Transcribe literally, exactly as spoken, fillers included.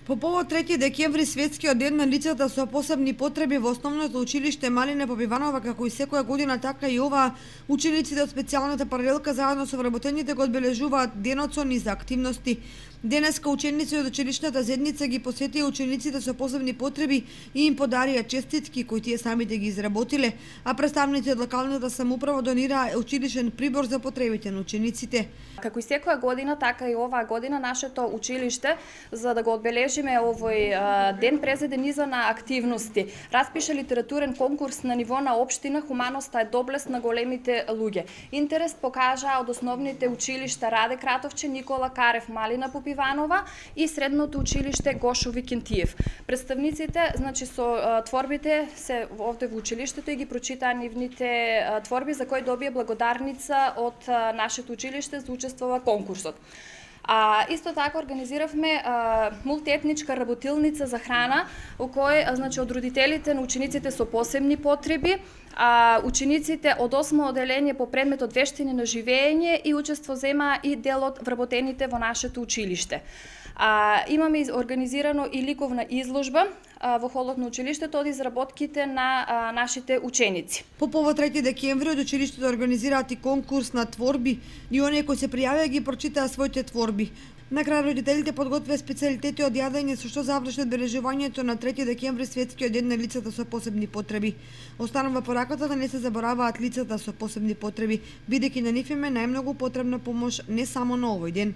По повод трети декември, светскиот ден на лицата со посебни потреби во основното училиште Малина Попиванова, како и секоја година, така и ова, учениците од специјалната паралелка заедно со вработените го одбележуваат денот со низа активности. Денеска ученици од училишната заедница ги посетија учениците со посебни потреби и им подарија честитки кои тие самите ги изработиле, а представници од локалната самоуправа донираа училишен прибор за потребите на учениците. Како и секоја година, така и оваа година нашето училиште, за да го одбележиме овој ден, презеде низа на активности. Распиша литературен конкурс на ниво на општина "Хуманоста е доблест на големите луѓе". Интерес покажаа од основните училишта Раде Кратовче, Никола Карев, Малина Попиванова и средното училиште Гошо Викентиев. Представниците, значи со творбите се овде во училиштето и ги прочитаа нивните творби за кои добија благодарница од нашето училиште за учествува конкурсот. А, исто така организиравме а, мултиетничка работилница за храна, во кој значи од родителите на учениците со посебни потреби, а, учениците од осмо оделение по предметот вештини на живење и учество зема и дел од вработените во нашето училиште. А, имаме организирано и ликовна изложба а, во холот на училиштето од изработките на а, нашите ученици. По повод трети декември од училиштето организираат и конкурс на творби и оние кои се пријавија ги прочитаа своите творби. На крај родителите подготвија специјалитети од јадење со што заврши одбележувањето на трети декември, светскиот ден на лицата со посебни потреби. Останува пораката да не се забораваат лицата со посебни потреби, бидејќи на нив им е најмногу потребна помош не само на овој ден.